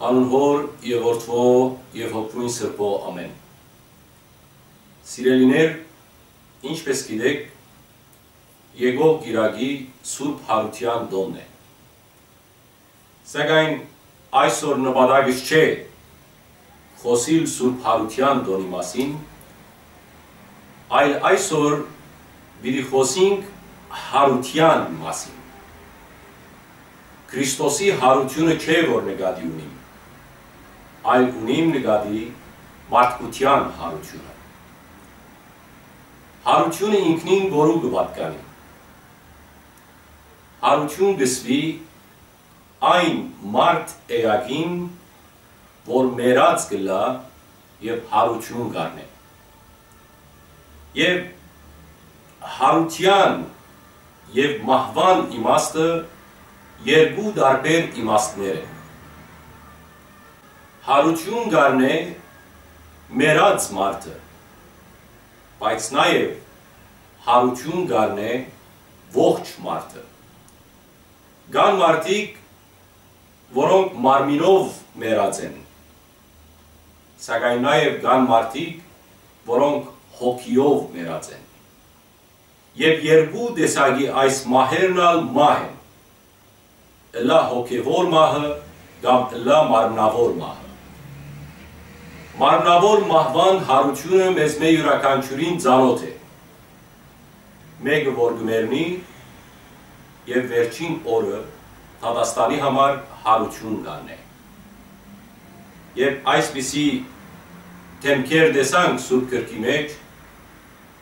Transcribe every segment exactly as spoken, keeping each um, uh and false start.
Անուն Հօր եւ Որդւոյ եւ Հոգիոյն Սրբոյ, ամէն։ Սիրելիներ, ինչպէս գիտէք, եկող կիրակի Սուրբ Յարութեան տօնն է։ Սակայն այսօր նպատակս չէ խօսիլ Սուրբ Յարութեան տօնի մասին, այլ այսօր պիտի խօսինք յարութեան մասին։ Քրիստոսի յարութիւնը չէ, որ նկատի ունիմ, այլ ունիմ նկատի մարդկութեան յարութիւնը։ Յարութիւնը ինքնին որու կը պատկանի։ Յարութիւն կ'ըսուի այն մարդ էակին, որ մեռած կ'ըլլայ եւ յարութիւն կ'առնէ։ Եւ յարութեան եւ մահուան իմաստը երկու տարբեր իմաստներ են։ Յարութիւն կ'առնէ մեռած մարդը, բայց նաեւ յարութիւն կ'առնէ ողջ մարդը։ Կան մարդիկ, որոնք մարմինով մեռած են, սակայն նաեւ կան մարդիկ, որոնք հոգիով մեռած են։ Եւ երկու տեսակի այս մահերն ալ մահ են, ըլլայ հոգեւոր մահը կամ ըլլայ մարմնաւոր մահը։ Մարմնաւոր մահուան յարութիւնը մեզմէ իւրաքանչիւրին ծանօթ է։ Մէկը որ կը մեռնի եւ վերջին օրը դատաստանի համար յարութիւն կ'առնէ։ Եւ այսպիսի դէմքեր տեսանք Սուրբ Գրքի մէջ,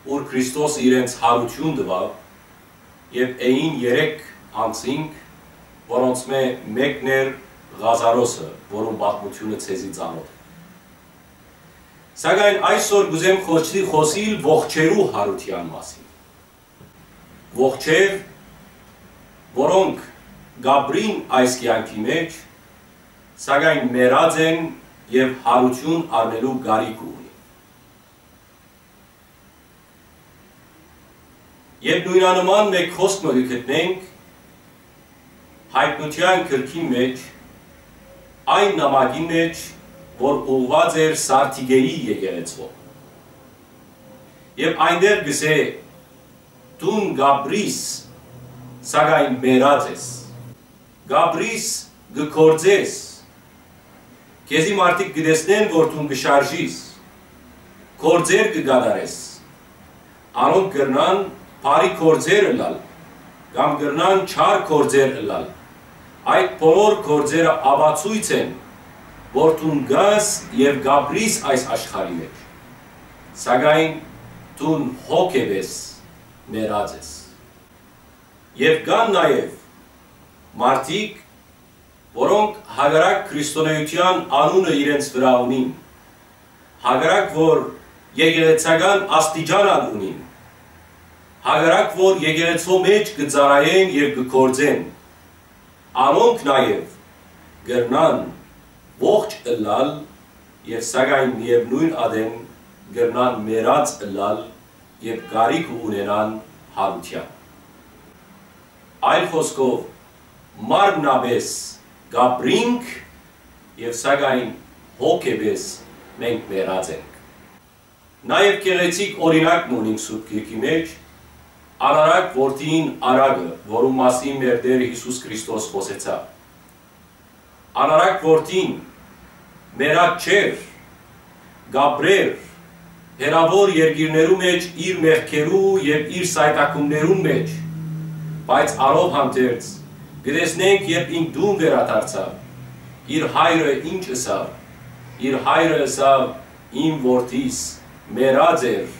ուր Քրիստոս իրենց յարութիւն տուաւ, եւ էին երեք անձինք, որոնցմէ մէկն էր Ղազարոսը, որուն պատմութիւնը ձեզի ծանօթ է։ Սակայն այսօր կ'ուզեմ խօսի-, խօսիլ ողջերու յարութեան մասին։ Ողջեր, որոնք կ'ապրին այս կեանքի մէջ, սակայն մեռած են եւ յարութիւն առնելու կարիքը ունին։ Եւ նոյնանման մէկ խօսք մը կը գտնենք Յայտնութեան գրքին մէջ, այն նամակին մէջ, որ ուղղուած էր Սարդիկէի եկեղեցւոյ։ Եւ այնտեղ կ'ըսէ. «Դուն կ'ապրիս, սակայն մեռած ես։ Կ'ապրիս, կը գործես։ Քեզի մարդիկ կը տեսնեն, որ դուն կը շարժիս, գործեր կը կատարես։ Անոնք կրնան բարի գործեր ըլլալ, կամ կրնան չար գործեր ըլլալ։ Այդ բոլոր գործերը ապացոյց են, որ դուն կաս եւ կ'ապրիս այս աշխարհի մէջ, սակայն դուն հոգեվէս մեռած ես»։ Եւ կան նաեւ մարդիկ, որոնք հակառակ քրիստոնէութեան անունը իրենց վրայ ունին, հակառակ որ եկեղեցական աստիճան ալ ունին, հակառակ որ եկեղեցւոյ մէջ կը ծառայեն եւ կը գործեն, անոնք նաեւ կրնան ողջ ըլլալ եւ սակայն միեւնոյն ատեն կրնան մեռած ըլլալ եւ կարիքը ունենան յարութեան։ Այլ խօսքով, մարմնապէս կ'ապրինք եւ սակայն հոգեվէս մենք մեռած ենք։ Նաեւ գեղեցիկ օրինակ մը ունինք Սուրբ Գիրքի մէջ, անարակ որդին Արագը, որուն մասին մեր Տէրը Յիսուս Քրիստոս խօսեցաւ։ Անարակ որդին մեռած չէր, կ'ապրէր հեռաւոր երկիրներու մէջ իր մեղքերու եւ իր սայթաքումներուն մէջ, բայց անով հանդերձ կը տեսնենք, երբ ինք տուն վերադարձաւ, իր հայրը ինչ ըսաւ։ Իր հայրը ըսաւ. «Իմ որդիս մեռած էր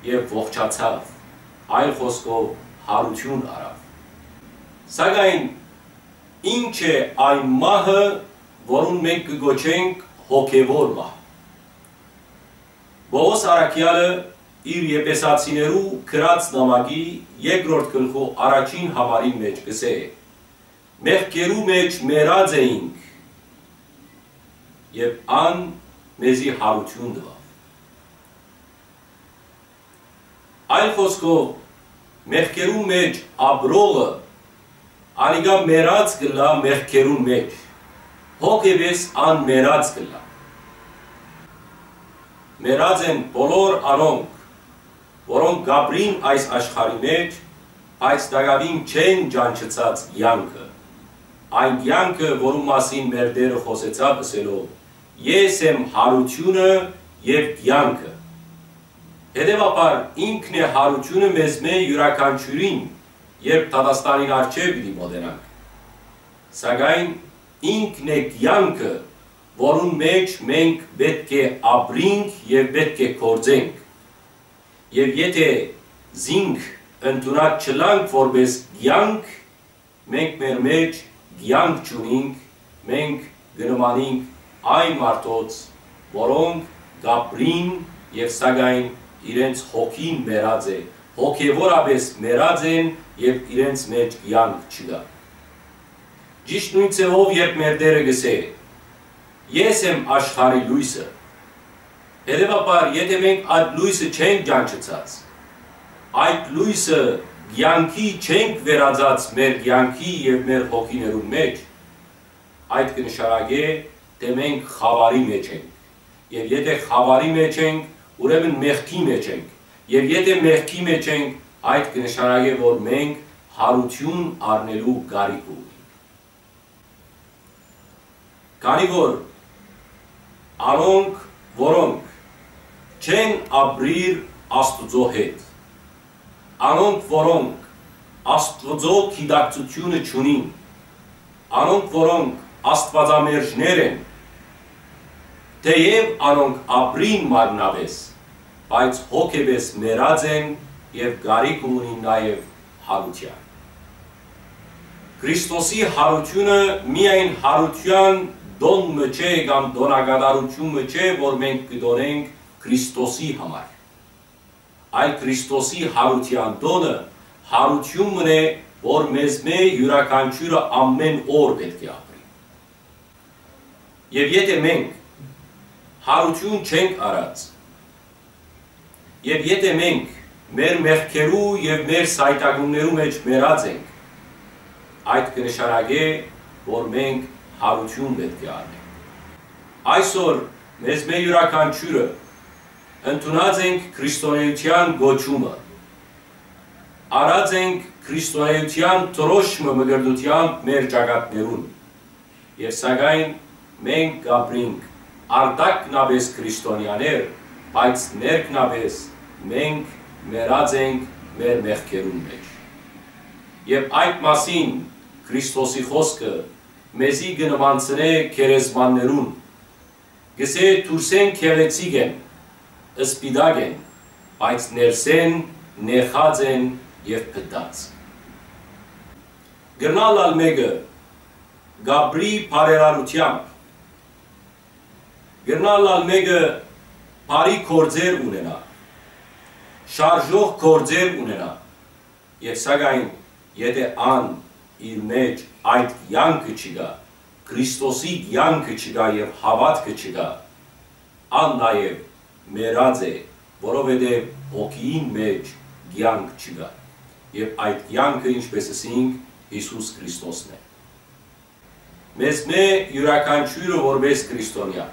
եւ ողջացաւ», այլ խօսքով, յարութիւն առաւ։ Սակայն ի՞նչ է այն մահը, որուն մենք կը կոչենք հոգեւոր մահ։ Պողոս առաքեալը իր Եփեսացիներու գրած նամակի երկրորդ գլխու առաջին համարին մէջ կ'ըսէ. «Մեղքերու մէջ մեռած էինք, եւ ան մեզի յարութիւն տուաւ»։ Այլ խօսքով, մեղքերու մէջ ապրողը անիկա մեռած կ'ըլլայ մեղքերուն մէջ, Հոգեպես ան մեռած կ'ըլլայ։ Մեռած են բոլոր անոնք, որոնք կ'ապրին այս աշխարհի մէջ, բայց տակաւին չեն ճանչցած կեանքը, այն կեանքը, որուն մասին մեր Տէրը խօսեցաւ ըսելով. «Ես եմ յարութիւնը եւ կեանքը»։ Հետեւաբար, ինքն է յարութիւնը մեզմէ յուրաքանչիւրին, երբ դատաստանին առջեւ պիտի մօտենանք։ Սակայն ինքն է կեանքը, որուն մէջ մենք պէտք է ապրինք եւ պէտք է գործենք։ Եւ եթէ զինք ընդունած չըլլանք որպէս կեանք, մենք մեր մէջ կեանք չունինք, մենք կը նմանինք այն մարդոց, որոնք կ'ապրին եւ սակայն իրենց հոգին մեռած է, հոգեւորապէս մեռած են եւ իրենց մէջ կեանք չկայ։ Ճիշդ նոյն ձեւով, երբ մեր Տէրը կ'ըսէ. «Ես եմ աշխարհի լոյսը»։ Հետեւաբար, եթէ մենք այդ լոյսը չենք ճանչցած, այդ լոյսը կեանքի չենք վերածած մեր կեանքի եւ մեր հոգիներուն մէջ, այդ կը նշանակէ, թէ մենք խաւարի մէջ ենք։ Եւ եթէ խաւարի մէջ ենք, ուրեմն մեղքի մէջ ենք։ Եւ եթէ մեղքի մէջ ենք, այդ կը նշանակէ, որ մենք յարութիւն առնելու կարիքը ունենք։ Քանի որ անոնք, որոնք չեն ապրիր Աստուծոյ հետ, անոնք, որոնք Աստուծոյ գիտակցութիւնը չունին, անոնք, որոնք աստուածամերժներ են, թէեւ անոնք ապրին մարմնապէս, բայց հոգեպես մեռած են եւ կարիքը ունին նաեւ յարութեան։ Քրիստոսի յարութիւնը միայն յարութեան տոն մը չէ կամ տոնակատարութիւն մը չէ, որ մենք կը տոնենք Քրիստոսի համար, այլ Քրիստոսի յարութեան տոնը յարութիւն մըն է, որ մեզմէ յուրաքանչիւրը ամէն օր պէտք է ապրի։ Եւ եթէ մենք յարութիւն չենք առած, եւ եթէ մենք մեր մեղքերու եւ մեր սայթաքումներու մէջ մեռած ենք, այդ կը նշանակէ, որ մենք յարութիւն պէտք է առնենք։ Այսօր մեզմէ յուրաքանչիւրը ընդունած ենք քրիստոնէութեան կոչումը, առած ենք քրիստոնէութեան դրոշմը մկրտութեամբ մեր ճակատներուն, եւ սակայն մենք կ'ապրինք արտակնապէս քրիստոնեաներ, բայց ներքնապէս մենք մեռած ենք մեր մեղքերուն մէջ։ Եւ այդ մասին Քրիստոսի խօսքը մեզի կը նմանցնէ գերեզմաններուն, կ'ըսէ. «Դուրսէն գեղեցիկ են, սպիտակ են, բայց ներսէն նեխած են եւ փտած»։ Կրնալ ալ մէկը կ'ապրի բարերարութեամբ, կրնալ ալ մէկը բարի գործեր ունենայ, շարժող գործեր ունենայ, եւ սակայն եթէ ան իր մէջ այդ կեանքը չկայ, Քրիստոսի կեանքը չկայ եւ հաւատքը չկայ, ան նաեւ մեռած է, որովհետեւ հոգիին մէջ կեանք չկայ, եւ այդ կեանքը, ինչպես ըսինք, Յիսուս Քրիստոսն է։ Մեզմէ յուրաքանչիւրը որպէս քրիստոնեայ,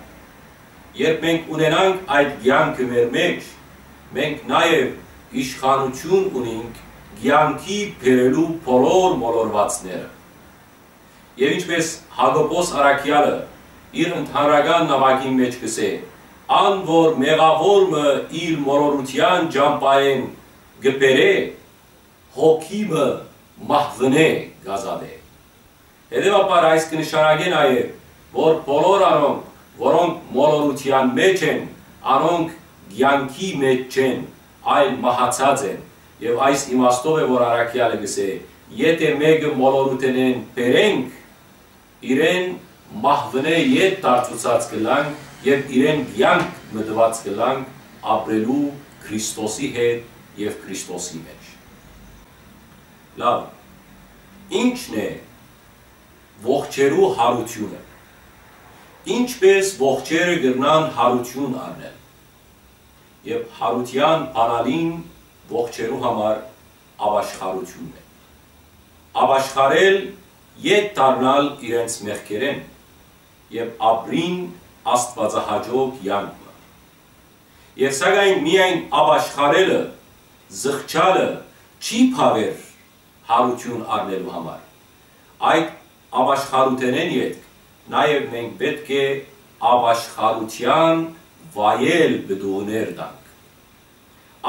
երբ մենք ունենանք այդ կեանքը մեր մէջ, մենք նաեւ իշխանութիւն ունինք կեանքի բերելու բոլոր մոլորուածները։ Եւ ինչպես Յակոբոս առաքեալը իր ընդհանրական նամակին մէջ կ'ըսէ. «Ան որ մեղաւոր մը իր մոլորութեան ճամբայէն կը բերէ, հոգի մը մահուընէ կ'ազատէ»։ Հետեւաբար, այս կը նշանակէ նաեւ, որ բոլոր անոնք, որոնք մոլորութեան մէջ են, անոնք կեանքի մէջ չեն, այլ մահացած են։ Եւ այս իմաստով է, որ առաքեալը կ'ըսէ. «Եթէ մէկը մոլորութենէն բերենք, իրեն մահուընէ ետ դարձուցած կ'ըլլանք եւ իրեն կեանք մը տուած կ'ըլլանք ապրելու Քրիստոսի հետ եւ Քրիստոսի մէջ»։ Լաւ, ի՞նչն է ողջերու յարութիւնը։ Ի՞նչպէս ողջերը կրնան յարութիւն առնել։ Եւ յարութեան բանալին ողջերու համար ապաշխարութիւնն է։ Ապաշխարել, ետ դառնալ իրենց մեղքերէն։ եւ ապրին աստուածահաճոյ կեանք մը։ Եւ սակայն միայն ապաշխարելը, զղջալը չի բաւեր յարութիւն առնելու համար։ Այդ ապաշխարութենէն ետք նաեւ մենք պէտք է ապաշխարութեան վայել պտուղներ տանք։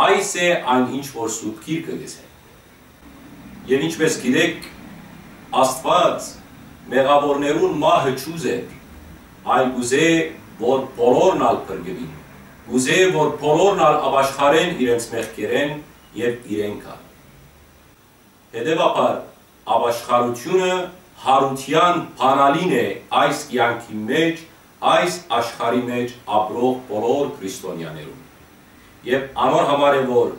Այս է այն, ինչ որ Սուրբ Գիրքը կ'ըսէ։ Եւ ինչպէս գիտէք, Աստուած մեղաւորներուն մահը չուզեր, այլ կ'ուզէ, որ բոլորն ալ փրկուին, կ'ուզէ, որ բոլորն ալ ապաշխարեն իրենց մեղքերէն եւ իրենք ալ։ Հետեւաբար, ապաշխարութիւնը յարութեան բանալին է այս կեանքի մէջ, այս աշխարհի մէջ ապրող բոլոր քրիստոնեաներուն։ Եւ անոր համար է, որ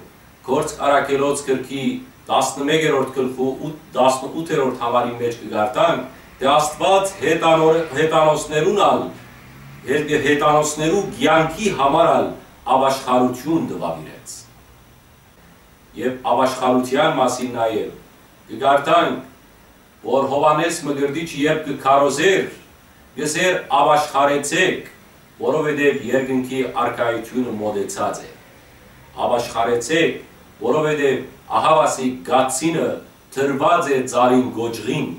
Գործք Առաքելոց գրքի տասնմեկերորդ գլխու ութ, տասնութերորդ համարի մէջ կը կարդանք, թէ Աստուած յետանոր-, յետանոսներուն ալ, հե-, յետանոսներու կեանքի համար ալ ապաշխարութիւն տուաւ իրենց։ Եւ ապաշխարութեան մասին նաեւ կը կարդանք, որ Յովհաննէս Մկրտիչը երբ կը քարոզէր, կ'ըսէր. «Ապաշխարեցէք, որովհետեւ երկնքի արքայութիւնը մօտեցած է»։ Ապաշխարեցէք, որովհետեւ ահաւասիկ կացինը դրուած է ծառին կոճղին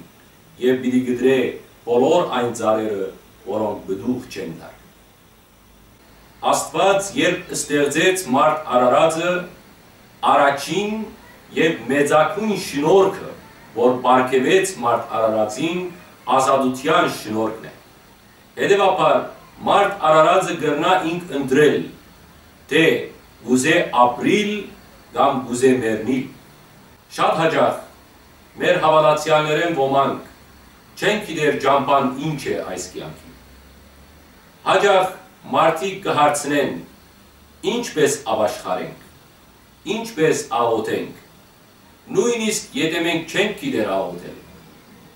եւ պիտի կտրէ բոլոր այն ծառերը, որոնք պտուղ չեն տար։ Աստուած երբ ստեղծեց մարդ արարածը, առաջին եւ մեծագոյն շնորհքը, որ պարգեւեց մարդ արարածին, ազատութեան շնորհքն է։ Հետեւաբար, մարդ արարածը կրնայ ինք ընտրել, թէ կ'ուզէ ապրիլ կամ կ'ուզէ մեռնիլ։ Շատ յաճախ մեր հաւատացեալներէն ոմանք չեն գիտեր ճամբան ինչ է այս կեանքին։ Յաճախ մարդիկ կը հարցնեն. «Ինչպէս ապաշխարենք, ինչպէս աղօթենք»։ Նոյնիսկ եթէ մենք չենք գիտեր աղօթել,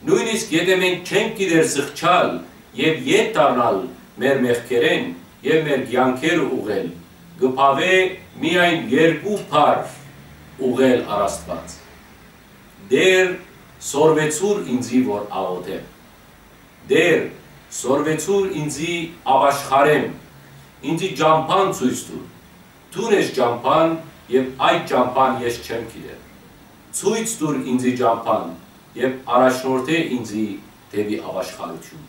նոյնիսկ եթէ մենք չենք գիտեր զղջալ եւ ետ դառնալ մեր մեղքերէն եւ մեր կեանքերը ուղղել, կը բաւէ միայն երկու բառ ուղղել առ Աստուած. «Տէր, սորվեցուր ինծի, որ աղօթեմ»։ «Տէր, սորվեցուր ինծի, ապաշխարեմ, ինծի ճամբան ցոյց տուր։ Դուն ես ճամբան եւ այդ ճամբան ես չեմ գիտեր։ Ցոյց տուր ինծի ճամբան եւ առաջնորդէ ինծի դէպի ապաշխարութիւն»։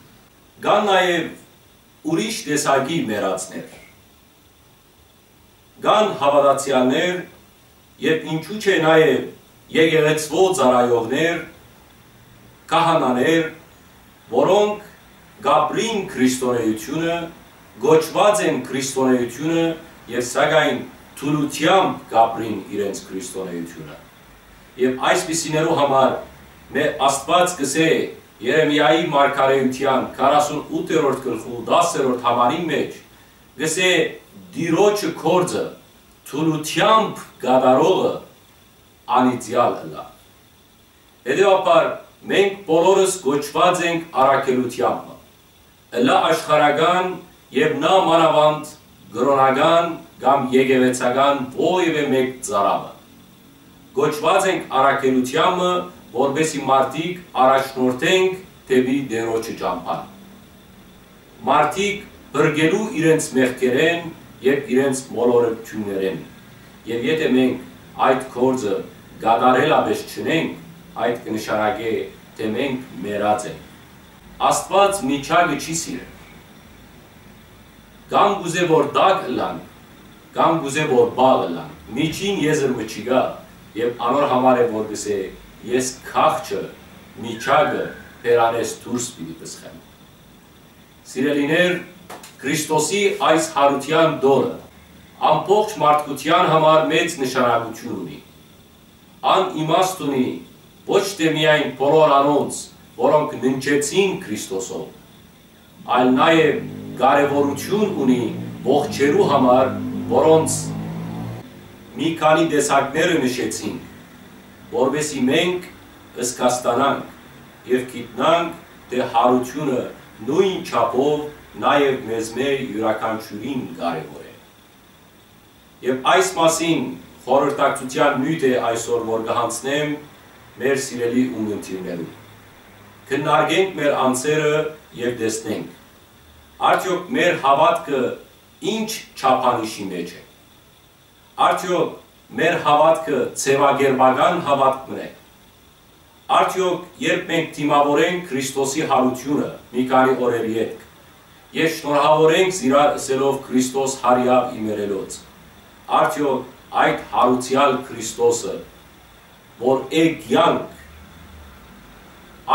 Կան նաեւ ուրիշ տեսակի մեռածներ։ Կան հաւատացեալներ եւ ինչու՞ չէ նաեւ եկեղեցւոյ ծառայողներ, քահանաներ, որոնք կ'ապրին քրիստոնէութիւնը, կոչուած են քրիստոնէութիւնը եւ սակայն թուլութեամբ կ'ապրին իրենց քրիստոնէութիւնը։ Եւ այսպիսիներու համար մեր Աստուած կ'ըսէ Երեմիայի մարգարէութեան քառասունութերորդ գլխու տասերորդ համարին մէջ, կ'ըսէ. «Տիրոջը գործը թուլութեամբ կատարողը անիծեալ ըլլայ»։ Հետեւաբար, մենք բոլորս կոչուած ենք առաքելութեան մը, ըլլայ աշխարհական եւ նա մանաւանդ կրօնական կամ եկեղեցական որեւէ մէկ ծառայ մը։ Կոչուած ենք առաքելութեան մը, որպեսզի մարդիկ առաջնորդենք դէպի Տիրոջը ճամբան։ Մարդիկ փրկելու իրենց մեղքերէն եւ իրենց մոլորակութիւններէն։ Եւ եթէ մենք այդ գործը կատարելապէս չունենք, այդ կը նշանակէ, թէ մենք մեռած ենք։ Աստուած միչակը չի սիրեր։ Կամ կ'ուզէ որ տաք ըլլանք, կամ կ'ուզէ որ պաղ ըլլանք։ Միջին եզր մը չկայ, եւ անոր համար է որ կ'ըսէ. «Ես քաղցը, միչակը բերանէս դուրս պիտի պսխեմ»։ Սիրելիներ, Քրիստոսի այս յարութեան տօնը ամբողջ մարդկութեան համար մեծ նշանակութիւն ունի։ Ան իմաստ ունի ոչ թէ միայն բոլոր անոնց, որոնք ննջեցին Քրիստոսով, այլ նաեւ կարեւորութիւն ունի ողջերու համար, որոնց մի քանի տեսակները նշեցինք, որպեսզի մենք զգաստանանք եւ գիտնանք, թէ յարութիւնը նոյն չափով նաեւ մեզմէ իւրաքանչիւրին կարեւոր է։ Եւ այս մասին խորհրդակցութեան նիւթ է այսօր, որ կը յանձնեմ մեր սիրելի ունգընտիրներուն։ Քննարկենք մեր անձերը եւ տեսնենք, Արդեօք մեր հաւատքը ի՞նչ չափանիշի մէջ է։ Արդեօք մեր հաւատքը ձեւակերպական հաւատք մըն է։ Արդեօք երբ մենք դիմաւորենք Քրիստոսի յարութիւնը մի քանի օրեր ետք եւ շնորհաւորենք զիրար ըսելով Քրիստոս յարեաւ իմերելոց, արդեօք այդ յարուցեալ Քրիստոսը որ է կեանք,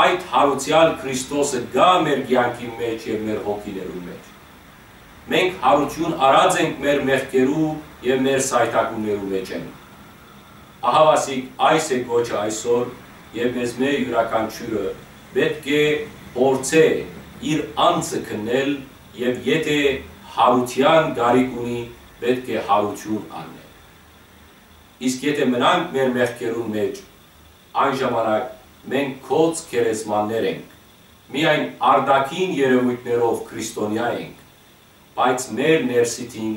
այդ յարուցեալ Քրիստոսը կա մեր կեանքի մէջ եւ մեր հոգիներուն մէջ։ Մենք յարութիւն առած ենք մեր մեղքերու եւ մեր սայթակումներու մէջէն։ Ահաւասիկ այս է կոչը այսօր եւ մեզմէ իւրաքանչիւրը պէտք է փորձէ իր անձը քննել եւ եթէ յարութեան կարիք ունի, պէտք է յարութիւն առնէ։ Իսկ եթէ մնանք մեր մեղքերուն մէջ, այն ժամանակ մենք կոչ գերեզմաններ ենք, միայն արտաքին երեւոյթներով քրիստոնեայ ենք, բայց մեր ներսիդին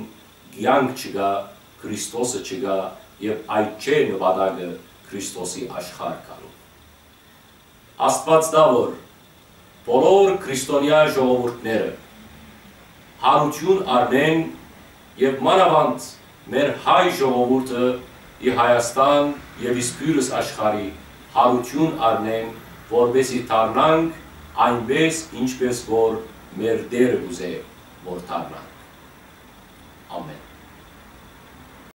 կեանք չկայ, Քրիստոսը չկայ եւ այդ չէ նպատակը Քրիստոսի աշխարհ գալու։ Աստուած տայ որ բոլոր քրիստոնեայ ժողովուրդները յարութիւն առնեն եւ մանաւանդ մեր հայ ժողովուրդը ի Հայաստան եւ իսկ յուրս աշխարհի յարութիւն առնեն, որպեսզի դառնանք այնպէս, ինչպէս որ մեր Տէրը կ'ուզէ որ դառնանք։ Ամէն։